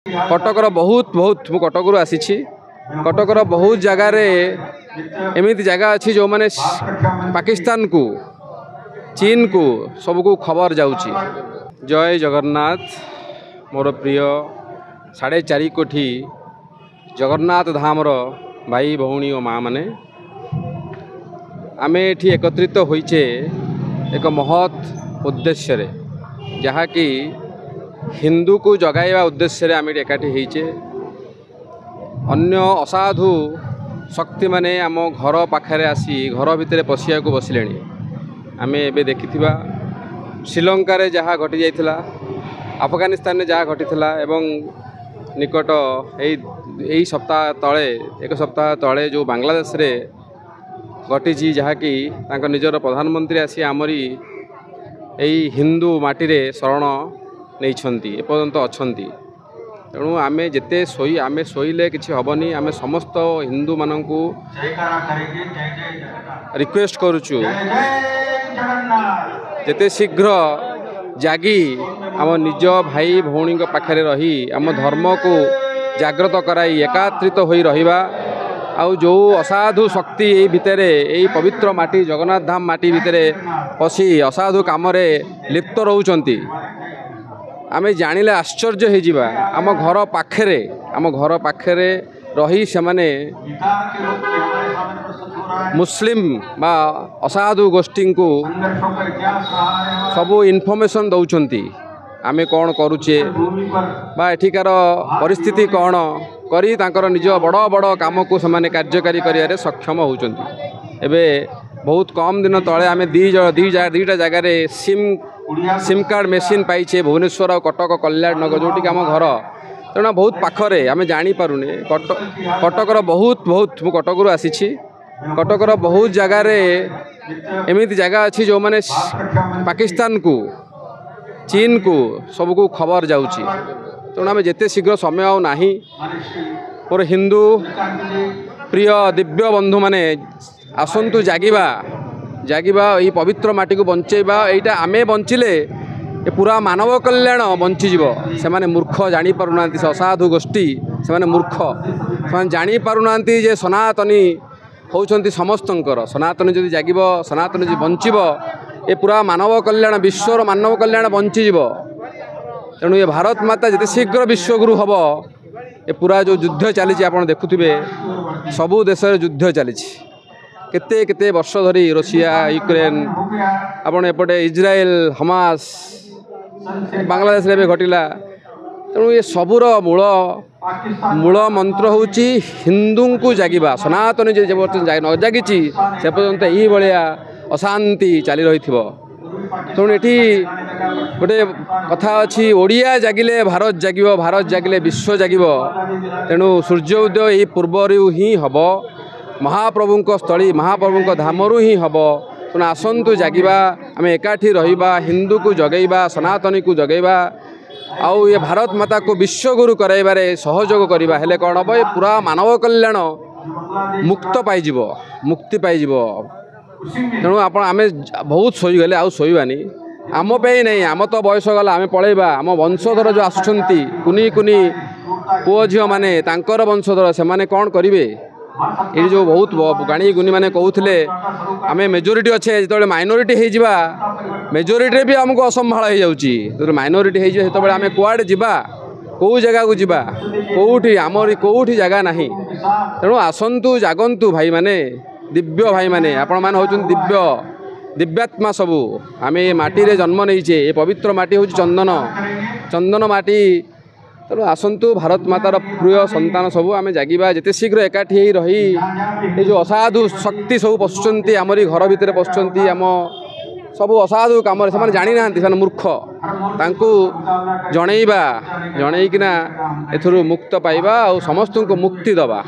କଟକର ବହୁତ ବହୁତ, ମୁଁ କଟକରୁ ଆସିଛି। କଟକର ବହୁତ ଜାଗାରେ ଏମିତି ଜାଗା ଅଛି ଯେଉଁମାନେ ପାକିସ୍ତାନକୁ, ଚୀନକୁ ସବୁକୁ ଖବର ଯାଉଛି। ଜୟ ଜଗନ୍ନାଥ। ମୋର ପ୍ରିୟ 4.5 କୋଟି ଜଗନ୍ନାଥ ଧାମର ଭାଇ ଭଉଣୀ ଓ ମାଆ ମାନେ, ଆମେ ଏଠି ଏକତ୍ରିତ ହୋଇଛେ ଏକ ମହତ୍ ଉଦ୍ଦେଶ୍ୟରେ, ଯାହାକି ହିନ୍ଦୁକୁ ଜଗାଇବା ଉଦ୍ଦେଶ୍ୟରେ ଆମେ ଏଠି ଏକାଠି ହେଇଛେ। ଅନ୍ୟ ଅସାଧୁ ଶକ୍ତିମାନେ ଆମ ଘର ପାଖରେ ଆସି ଘର ଭିତରେ ପଶିବାକୁ ବସିଲେଣି। ଆମେ ଏବେ ଦେଖିଥିବା ଶ୍ରୀଲଙ୍କାରେ ଯାହା ଘଟିଯାଇଥିଲା, ଆଫଗାନିସ୍ତାନରେ ଯାହା ଘଟିଥିଲା, ଏବଂ ନିକଟ ଏଇ ସପ୍ତାହ ତଳେ, ଏକ ସପ୍ତାହ ତଳେ ଯେଉଁ ବାଂଲାଦେଶରେ ଘଟିଛି, ଯାହାକି ତାଙ୍କ ନିଜର ପ୍ରଧାନମନ୍ତ୍ରୀ ଆସି ଆମରି ଏଇ ହିନ୍ଦୁ ମାଟିରେ ଶରଣ ନେଇଛନ୍ତି, ଏପର୍ଯ୍ୟନ୍ତ ଅଛନ୍ତି। ତେଣୁ ଆମେ ଯେତେ ଶୋଇ, ଆମେ ଶୋଇଲେ କିଛି ହେବନି। ଆମେ ସମସ୍ତ ହିନ୍ଦୁମାନଙ୍କୁ ରିକ୍ୱେଷ୍ଟ କରୁଛୁ, ଯେତେ ଶୀଘ୍ର ଜାଗି ଆମ ନିଜ ଭାଇ ଭଉଣୀଙ୍କ ପାଖରେ ରହି ଆମ ଧର୍ମକୁ ଜାଗ୍ରତ କରାଇ ଏକାତ୍ରିତ ହୋଇ ରହିବା। ଆଉ ଯେଉଁ ଅସାଧୁ ଶକ୍ତି ଏଇ ଭିତରେ, ଏଇ ପବିତ୍ର ମାଟି ଜଗନ୍ନାଥ ଧାମ ମାଟି ଭିତରେ ପଶି ଅସାଧୁ କାମରେ ଲିପ୍ତ ରହୁଛନ୍ତି, ଆମେ ଜାଣିଲେ ଆଶ୍ଚର୍ଯ୍ୟ ହେଇଯିବା। ଆମ ଘର ପାଖରେ, ଆମ ଘର ପାଖରେ ରହି ସେମାନେ ମୁସଲିମ ବା ଅସାଧୁ ଗୋଷ୍ଠୀଙ୍କୁ ସବୁ ଇନଫର୍ମେସନ୍ ଦେଉଛନ୍ତି, ଆମେ କ'ଣ କରୁଛେ ବା ଏଠିକାର ପରିସ୍ଥିତି କ'ଣ କରି ତାଙ୍କର ନିଜ ବଡ଼ ବଡ଼ କାମକୁ ସେମାନେ କାର୍ଯ୍ୟକାରୀ କରିବାରେ ସକ୍ଷମ ହେଉଛନ୍ତି। ଏବେ ବହୁତ କମ୍ ଦିନ ତଳେ ଆମେ ଦୁଇଟା ଜାଗାରେ ସିମ୍ କାର୍ଡ଼ ମେସିନ୍ ପାଇଛେ, ଭୁବନେଶ୍ୱର ଆଉ କଟକ କଲ୍ୟାଣ ନଗର, ଯେଉଁଠିକି ଆମ ଘର। ତେଣୁ ବହୁତ ପାଖରେ, ଆମେ ଜାଣିପାରୁନେ। କଟକର ବହୁତ ବହୁତ, ମୁଁ କଟକରୁ ଆସିଛି। କଟକର ବହୁତ ଜାଗାରେ ଏମିତି ଜାଗା ଅଛି ଯେଉଁମାନେ ପାକିସ୍ତାନକୁ, ଚୀନକୁ ସବୁକୁ ଖବର ଯାଉଛି। ତେଣୁ ଆମେ ଯେତେ ଶୀଘ୍ର, ସମୟ ଆଉ ନାହିଁ। ମୋର ହିନ୍ଦୁ ପ୍ରିୟ ଦିବ୍ୟ ବନ୍ଧୁମାନେ, ଆସନ୍ତୁ ଜାଗିବା, ଜାଗିବା, ଏଇ ପବିତ୍ର ମାଟିକୁ ବଞ୍ଚେଇବା। ଏଇଟା ଆମେ ବଞ୍ଚିଲେ ଏ ପୁରା ମାନବ କଲ୍ୟାଣ ବଞ୍ଚିଯିବ। ସେମାନେ ମୂର୍ଖ, ଜାଣିପାରୁନାହାନ୍ତି। ସେ ଅସାଧୁ ଗୋଷ୍ଠୀ, ସେମାନେ ମୂର୍ଖ, ସେମାନେ ଜାଣିପାରୁନାହାନ୍ତି ଯେ ସନାତନୀ ହେଉଛନ୍ତି ସମସ୍ତଙ୍କର। ସନାତନୀ ଯଦି ଜାଗିବ, ସନାତନୀ ଯଦି ବଞ୍ଚିବ, ଏ ପୁରା ମାନବ କଲ୍ୟାଣ, ବିଶ୍ୱର ମାନବ କଲ୍ୟାଣ ବଞ୍ଚିଯିବ। ତେଣୁ ଏ ଭାରତ ମାତା ଯେତେ ଶୀଘ୍ର ବିଶ୍ୱଗୁରୁ ହେବ, ଏ ପୁରା ଯେଉଁ ଯୁଦ୍ଧ ଚାଲିଛି ଆପଣ ଦେଖୁଥିବେ, ସବୁ ଦେଶରେ ଯୁଦ୍ଧ ଚାଲିଛି କେତେ କେତେ ବର୍ଷ ଧରି, ରୁଷିଆ ୟୁକ୍ରେନ୍, ଆପଣ ଏପଟେ ଇସ୍ରାଏଲ ହମାସ, ବାଂଲାଦେଶରେ ଏବେ ଘଟିଲା। ତେଣୁ ଏ ସବୁର ମୂଳ ମନ୍ତ୍ର ହେଉଛି ହିନ୍ଦୁଙ୍କୁ ଜାଗିବା। ସନାତନୀ ଯେ ପର୍ଯ୍ୟନ୍ତ ନ ଜାଗିଛି, ସେ ପର୍ଯ୍ୟନ୍ତ ଏଇଭଳିଆ ଅଶାନ୍ତି ଚାଲି ରହିଥିବ। ତେଣୁ ଏଠି ଗୋଟେ କଥା ଅଛି, ଓଡ଼ିଆ ଜାଗିଲେ ଭାରତ ଜାଗିବ, ଭାରତ ଜାଗିଲେ ବିଶ୍ୱ ଜାଗିବ। ତେଣୁ ସୂର୍ଯ୍ୟ ଉଦୟ ଏଇ ପୂର୍ବରୁ ହିଁ ହେବ, ମହାପ୍ରଭୁଙ୍କ ସ୍ଥଳୀ, ମହାପ୍ରଭୁଙ୍କ ଧାମରୁ ହିଁ ହେବ। ତେଣୁ ଆସନ୍ତୁ ଜାଗିବା, ଆମେ ଏକାଠି ରହିବା, ହିନ୍ଦୁକୁ ଜଗେଇବା, ସନାତନୀକୁ ଜଗେଇବା, ଆଉ ଏ ଭାରତ ମାତାକୁ ବିଶ୍ୱଗୁରୁ କରାଇବାରେ ସହଯୋଗ କରିବା। ହେଲେ କ'ଣ ହେବ? ଏ ପୁରା ମାନବ କଲ୍ୟାଣ ମୁକ୍ତ ପାଇଯିବ, ମୁକ୍ତି ପାଇଯିବ। ତେଣୁ ଆପଣ, ଆମେ ବହୁତ ଶୋଇଗଲେ, ଆଉ ଶୋଇବାନି। ଆମ ପାଇଁ ନାହିଁ, ଆମ ତ ବୟସ ଗଲା, ଆମେ ପଳେଇବା। ଆମ ବଂଶଧର ଯେଉଁ ଆସୁଛନ୍ତି, କୁନି କୁନି ପୁଅ ଝିଅମାନେ, ତାଙ୍କର ବଂଶଧର ସେମାନେ କ'ଣ କରିବେ? ଏଇଠି ଯେଉଁ ବହୁତ ଗାଣି ଗୁନିମାନେ କହୁଥିଲେ ଆମେ ମେଜୋରିଟି ଅଛେ, ଯେତେବେଳେ ମାଇନୋରିଟି ହେଇଯିବା, ମେଜୋରିଟିରେ ବି ଆମକୁ ଅସମ୍ଭାଳ ହେଇଯାଉଛି। ଯେତେବେଳେ ମାଇନୋରିଟି ହେଇଯିବ, ସେତେବେଳେ ଆମେ କୁଆଡ଼େ ଯିବା? କେଉଁ ଜାଗାକୁ ଯିବା? କେଉଁଠି ଆମରି କେଉଁଠି ଜାଗା ନାହିଁ। ତେଣୁ ଆସନ୍ତୁ, ଜାଗନ୍ତୁ ଭାଇମାନେ, ଦିବ୍ୟ ଭାଇମାନେ। ଆପଣମାନେ ହେଉଛନ୍ତି ଦିବ୍ୟ, ଦିବ୍ୟାତ୍ମା ସବୁ। ଆମେ ଏ ମାଟିରେ ଜନ୍ମ ନେଇଛେ। ଏ ପବିତ୍ର ମାଟି ହେଉଛି ଚନ୍ଦନ, ଚନ୍ଦନ ମାଟି। ତେଣୁ ଆସନ୍ତୁ, ଭାରତ ମାତାର ପ୍ରିୟ ସନ୍ତାନ ସବୁ, ଆମେ ଜାଗିବା ଯେତେ ଶୀଘ୍ର, ଏକାଠି ହେଇ ରହି ଏ ଯେଉଁ ଅସାଧୁ ଶକ୍ତି ସବୁ ପଶୁଛନ୍ତି, ଆମରି ଘର ଭିତରେ ପଶୁଛନ୍ତି, ଆମ ସବୁ ଅସାଧୁ କାମରେ, ସେମାନେ ଜାଣିନାହାନ୍ତି, ସେମାନେ ମୂର୍ଖ। ତାଙ୍କୁ ଜଣେଇବା, ଜଣେଇକିନା ଏଥିରୁ ମୁକ୍ତ ପାଇବା ଆଉ ସମସ୍ତଙ୍କୁ ମୁକ୍ତି ଦେବା।